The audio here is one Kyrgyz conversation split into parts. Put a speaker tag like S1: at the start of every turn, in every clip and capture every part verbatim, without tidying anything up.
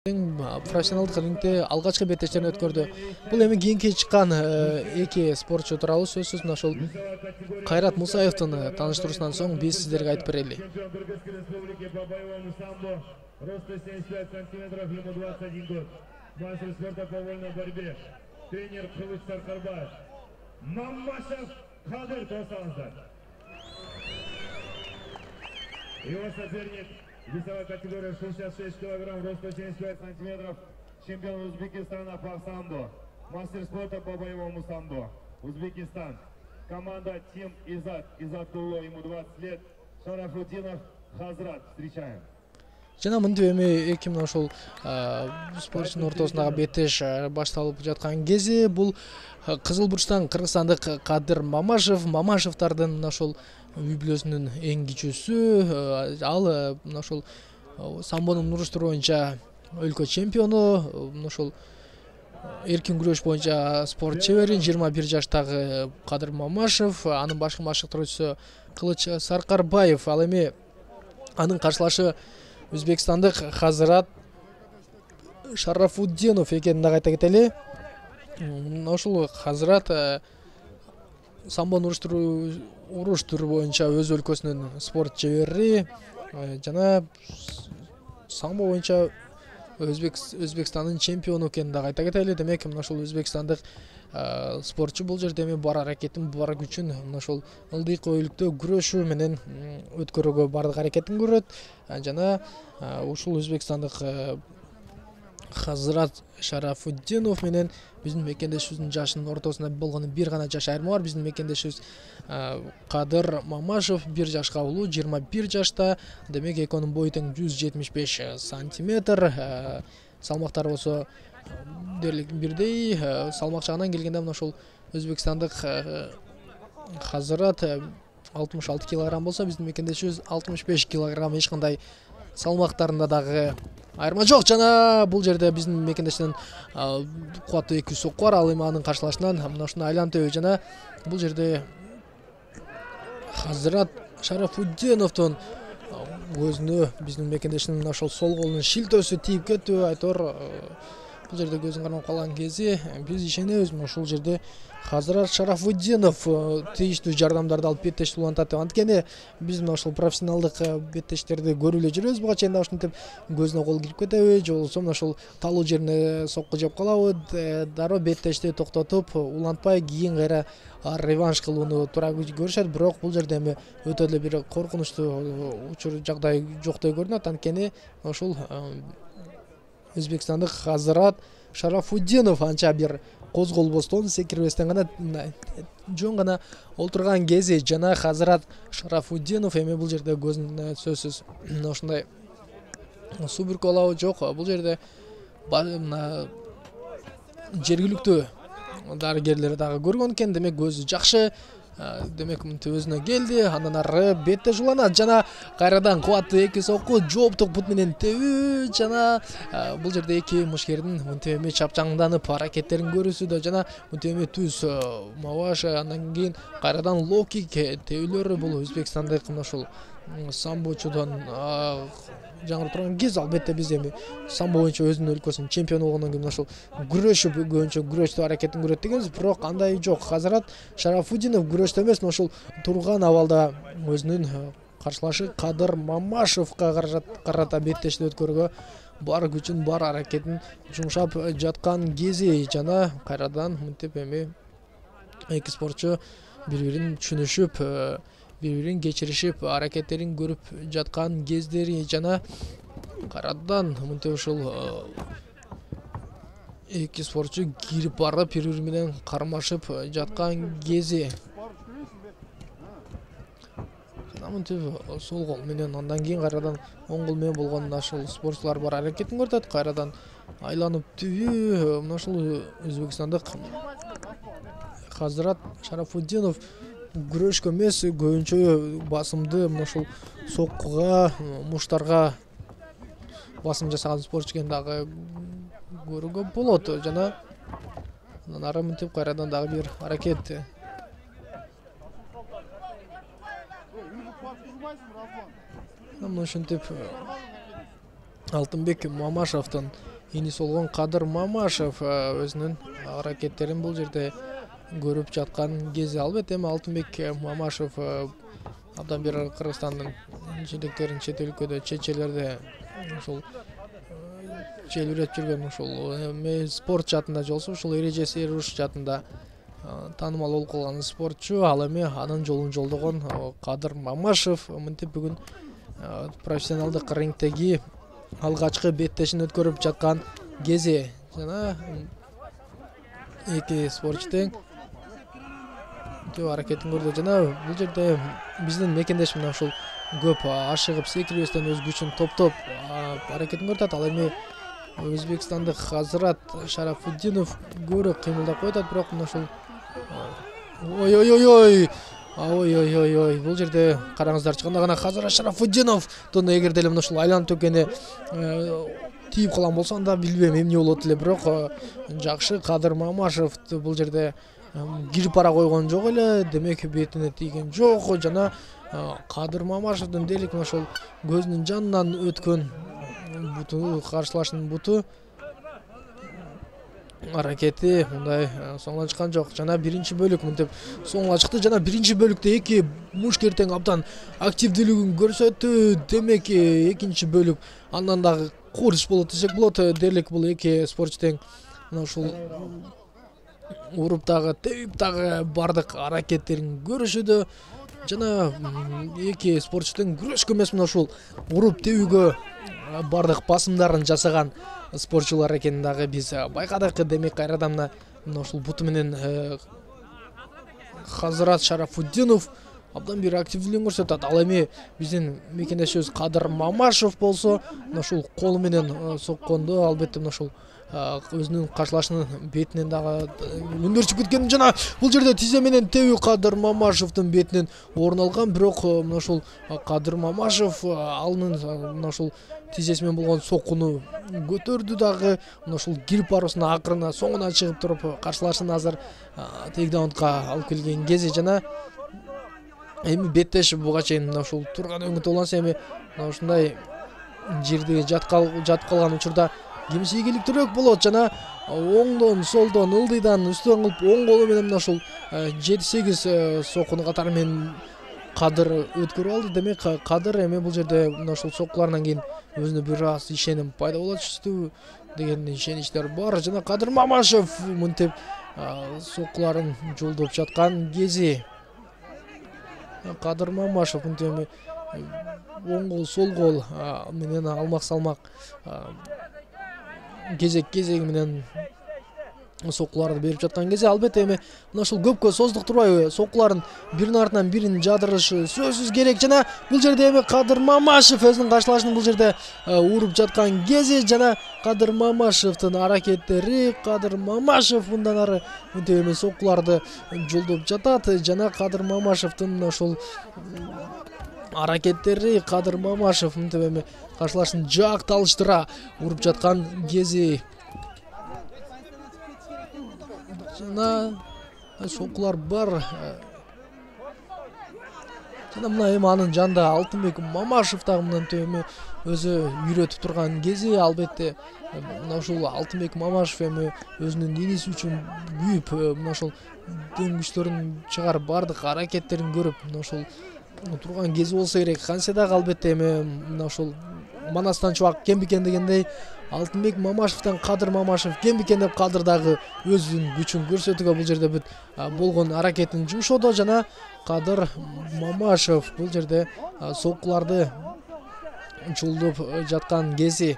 S1: Профессионалдык рингде алгачкы беттештерин өткөрдү. Бул эми кийинки чыккан эки спортчу тууралуу сөзсүз мына ошол Кайрат Мусаевдин тааныштыруусунан соң биз сиздерге айтып берели.
S2: Роста семьдесят пять сантиметров, ему двадцать один год. Мастер спорта по вольной борьбе. Тренер Кылыч Саркарбаев. Мамашев Кадыр Тосанзар. Его соперник весовой категории шестьдесят шесть килограмм, роста семьдесят пять сантиметров. Чемпион Узбекистана по самбо. Мастер спорта по боевому самбо. Узбекистан. Команда Тим Изат. Изатулло, ему двадцать лет. Шарафутдинов Хазрат. Встречаем.
S1: Жана мынтип эми эки мына ошол спортчунун ортосундагы беттеш башталып жаткан кези бул Кызыл бурчтан кыргызстандык Кадыр Мамашев, Мамашевдардын мына ошол үй бүлөсүнүн эң кичүүсү. Ал мына ошол самбонун уруштуруу боюнча өлкө чемпиону, мына ошол эркин күрөш боюнча спорт чебери жыйырма бир жаштагы Кадыр Мамашев, анын башкы машыктыруучусу Кылыч Саркарбаев. Ал эми анын каршылашы Өзбекстандык Хазрат Шарафутдинов экенин дагы айта кетели. Ошол Хазрат самбону уруштуруу уруш түрү боюнча өз өлкөсүнүн спорт чебери жана самбо боюнча Өзбекстандын чемпиону экенин дагы айта кетели. Демек мына ошол өзбекстандык спортчу бул жерде эми бар аракетин, бар күчүн мына ошол ылдыйкы өйлүктө күрөшүү менен өткөрүүгө бардык аракетин көрөт. Жана ушул өзбекстандык Хазрат Шарафутдинов менен биздин мекендешибиздин жашынын ортосунда болгону бир гана жаш айырма бар. Биздин мекендешибиз Кадыр Мамашев бир жашка улуу, жыйырма бир жашта. Демек экөөнүн бою тең жүз жетимиш беш сантиметр. Салмактары болсо дерлик бирдей. Салмак жагынан келгенде мына ошол өзбекстандык Хазрат алтымыш алты килограмм болсо, биздин мекендешибиз алтымыш беш килограмм. Эч кандай салмактарында дагы айырма жок. Жана бул жерде биздин мекендештин кубаттуу эки соку бар. Ал эми анын каршылашынан мына ушуну айланып өтөбү. Жана бул жерде Хазрат Шарафутдиновдун көзүнө биздин мекендештин мына ошол сол колунун шилтөөсү тийип кетти. Айтор бул жерде көзүн кармап калган кези биз ишенебиз ушул жерде Хазрат Шарафутдинов тийиштүү жардамдарды алып беттешти улантат деп. Анткени биз мына ошол профессионалдык беттештерди көрүп эле жүрөбүз. Буга чейин да ушинтип көзүнө кол кирип кетеби, же болбосо мына ошол талуу жерине сокку жеп калабы, дароо беттешти токтотуп улантпай кийин кайра реванш кылууну туура көрүшөт. Бирок бул жерде эми өтө эле бир коркунучтуу учур жагдай жоктой көрүнөт. Анткени ошол өзбекстандык Хазрат Шарафутдинов анча бир козголбостон, секирбестен гана жөн гана олтурган кези. Жана Хазрат Шарафутдинов эми бул жерде көзүнө сөзсүз ошондой суу бүркүп алабы, жок. Бул жерде мына жергиликтүү дарыгерлер дагы көргөн экен. Демек көзү жакшы. Демек мынтип өзүнө келди. Андан ары бетте жуланат. Жана кайрадан кубаттуу эки соку жооптук бут менен тебүү. Жана бул жерде эки мушкердин мынтип эми чапчаңданып аракеттерин көрүүсүдө. Жана мынтип эми түз маваш, андан кийин кайрадан лоу-кик тебүүлөрү. Бул Өзбекстандык мына ошол самбочудон жаңырып турган кез. Албетте биз эми самбо боюнча өзүнүн өлкөсүнүн чемпиону болгондон кийин мына ошол күрөшүп көбүнчө күрөштүү аракетин көрөт дегенбиз. Бирок андай жок. Хазрат Шарафутдинов күрөштө эмес, мына ошол турган абалда өзүнүн каршылашы Кадыр Мамашевга карата беттешти өткөрүүгө бар күчүн, бар аракетин жумшап жаткан кези. Жана кайрадан мынтип эми эки спортчу бири-бирин түшүнүшүп, бири-бирин кечиришип, аракеттерин көрүп жаткан кездери. Жана кайрадан мынтип ошол эки спортчу кирип барып бири-бири менен кармашып жаткан кези. Жана мынтип сол кол менен, андан кийин кайрадан оң кол менен болгон ошол спортчулар бар аракетин көрсөтөт. Кайрадан айланып түбүү. Мына ошол өзбекстандык Хазрат Шарафутдинов күрөшкө эмес, көбүнчө басымды мына ошол соккуга, муштарга басым жасаган спортчу экенин дагы көрүүгө болот. Жана андан ары мынтип кайрадан дагы бир аракет. Мына ушинтип Алтынбек Мамашевдин иниси болгон Кадыр Мамашев өзүнүн аракеттерин бул жерде көрүп жаткан кези. Албетте эми Алтынбек Мамашев абдан бир Кыргызстандын желектерин чет өлкөдө, чечелерде ушул желбиреп жүргөн ушул спорт жаатында жолсу ушул эрежеси эруш жаатында таанымал болуп калган спортчу. Ал эми анын жолун жолдогон Кадыр Мамашев мынтип бүгүн профессионалдык рингдеги алгачкы беттешин өткөрүп жаткан кези. Жана эки спортчу тең аракетин көрдү. Жана бул жерде биздин мекендеш мына ушул көп ашыгып секирбестен өз күчүн топтоп аракетин көрүп. Ал эми Өзбекстандык Хазрат Шарафутдинов көбүрөөк кыймылдап коюп атат, бирок мына ушул ой ой ой ой ой ой ой ой бул жерде караңыздарчы, кандай гана Хазрат Шарафутдиновдун эгерде эле мына ушул айланып өткөнү тийип калган болсо анда билбейм эмне болот эле, бирок жакшы Кадыр Мамашев бул жерде кирип бара койгон жок эле, демек бетине тийген жок. Жана Кадыр Мамашевдин дээрлик мына ушул көзүнүн жанынан өткөн буту, каршылашынын буту аракети мындай соңуна чыккан жок. Жана биринчи бөлүк мынтип соңуна чыкты. Жана биринчи бөлүктө эки мушкер тең абдан активдүүлүгүн көрсөттү. Демек экинчи бөлүк андан дагы курч болот десек болот. Дээрлик бул эки спортчу тең мына ушул уруп дагы тебип дагы бардык аракеттерин көрүшүүдө. Жана эки спортчу тең күрөшкө эмес, мына ушул уруп тебүүгө бардык басымдарын жасаган спортчулар экенин дагы биз байкадык. Демек кайрадан мына ушул буту менен Хазрат Шарафутдинов абдан бир активдүүлүгүн көрсөтөт. Ал эми биздин мекендешибиз Кадыр Мамашев болсо мына ушул колу менен соккондо албетте мына ушул өзүнүн каршылашынын бетинен дагы өндөрчүп кеткен. Жана бул жерде тизе менен тебүү Кадыр Мамашевдин бетинен орун алган, бирок мына ушул Кадыр Мамашев алынын мына ушул тизеси менен болгон соккуну көтөрдү дагы. Мына ушул кирип баруусуна акырына соңуна чыгып туруп каршылашын азыр тейкдаунга алып келген кези. Жана эми беттеш буга чейин мына ушул турган өңүт уланса, эми мына ушундай жерде жатып калган учурда кимиси ийгиликтүүрөөк болот. Жана оңдон, солдон, ылдыйдан үстөн кылып оң колу менен мына ушул жети сегиз соккуну катары менен Кадыр өткөрүп алды. Демек Кадыр эми бул жерде мына ушул соккуларынан кийин өзүнө бир аз ишеним пайда болочу деген ишеничтер бар. Жана Кадыр Мамашев мынтип соккуларын жолдоп жаткан кези. Кадыр Мамашев мынтип оң кол, сол кол менен алмак салмак кезек-кезеги менен соккуларды берип жаткан кези. Албетте эми мына ушул көпкө создуктурбай соккуларын биринин артынан бирин жадырышы сөзсүз керек. Жана бул жерде эми Кадыр Мамашев өзүнүн каршылашын бул жерде уруп жаткан кези. Жана Кадыр Мамашевдин аракеттери, Кадыр Мамашев мындан ары мынтип эми соккуларды жолдоп жатат. Жана Кадыр Мамашевдин мына ушул аракеттери, Кадыр Мамашев мынтип эми каршылашын жакталыштыра уруп жаткан кези. Жана соккулар бар. Жана мына эми анын жанында Алтынбек Мамашев дагы мынтип эми өзү үйрөтүп турган кези. Албетте мына ушул Алтынбек Мамашев эми өзүнүн иниси үчүн күйүп, мына ушул дем күчтөрүн чыгарып бардык аракеттерин көрүп мына ушул турган кези болсо керек. Кантсе дагы албетте эми мына ушул Манастан чубак кем бекен дегендей Алтынбек Мамашевден Кадыр Мамашев кем бекен деп Кадыр дагы өзүнүн күчүн көрсөтүүгө бул жерде бүт болгон аракетин жумшоодо. Жана Кадыр Мамашев бул жерде соккуларды жолдоп жаткан кези.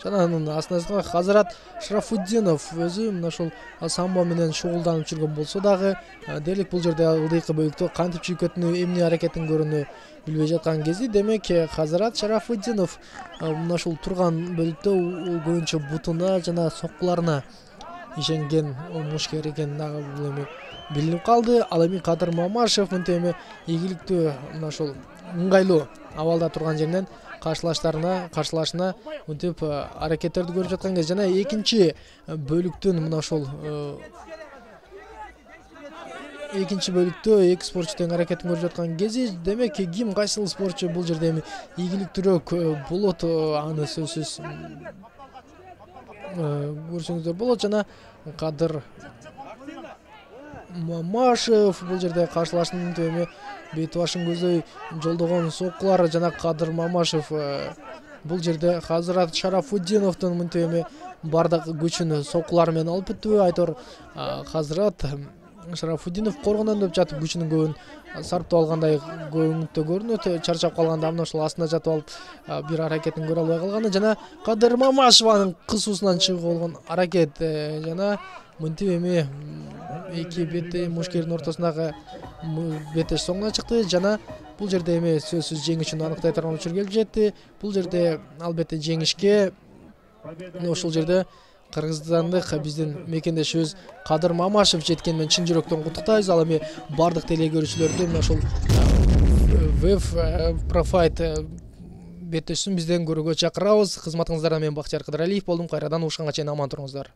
S1: Жана анын астына Хазрат Шарафутдинов өзү мына ушул самбо менен шугулданып жүргөн болсо дагы дээрлик бул жерде ылдыйкы бөлүктө кантип чийкөтүнү, эмне аракетин көрүүнү билбей жаткан кези. Демек Хазрат Шарафутдинов мына ушул турган бөлүктө көбүнчө бутуна жана соккуларына ишенген мушкер экени дагы бул эми билинип калды. Ал эми Кадыр Мамашев мынтип эми ийгиликтүү мына ушул ыңгайлуу абалда турган жеринен каршылаштарына каршылашына мынтип аракеттерди көрүп жаткан кез. Жана экинчи бөлүктүн мына ушул экинчи бөлүктө эки спортчу тең аракетин көрүп жаткан кези, демек ким кайсыл спортчу бул жерде эми ийгиликтүүрөөк болот, аны сөзсүз көрсөңүздөр болот. Жана Кадыр Мамашев бул жерде каршылаштын эми бет башын көздөй жолдогон соккулар жана Кадыр Мамашев бул жерде Хазырат Шарафутдиновдун мынтип эми бардык күчүн соккулар менен алып бүттү. Айтор Хазырат Шарафутдинов коргондон деп жатып күчүнүн көбүн сарптап алгандай көңүттө көрүнөт. Чарчап калганда амна ушул астына жатып алып бир аракетин көрө албай калганы жана Кадыр Мамашеванын кысуусунан чыгып болгон аракет жана мынтип эми эки бетте мушкердин ортосундагы беттеш соңуна чыкты жана бул жерде эми сөзсүз жеңүүчүнү аныктай турган учур келип жетти. Бул жерде албетте жеңишке ошол жерде кыргызстандык биздин мекендешибиз Кадыр Мамашев жеткени менен чын жүрөктөн куттуктайбыз. Ал эми бардык теле көрүүчүлөрдү мына ошол веб профайт беттешүүсүн бизден көрүүгө чакырабыз. Кызматыңыздарда мен Бактияр Кыдыралиев болдум. Кайрадан уушканга чейин аман туруңуздар.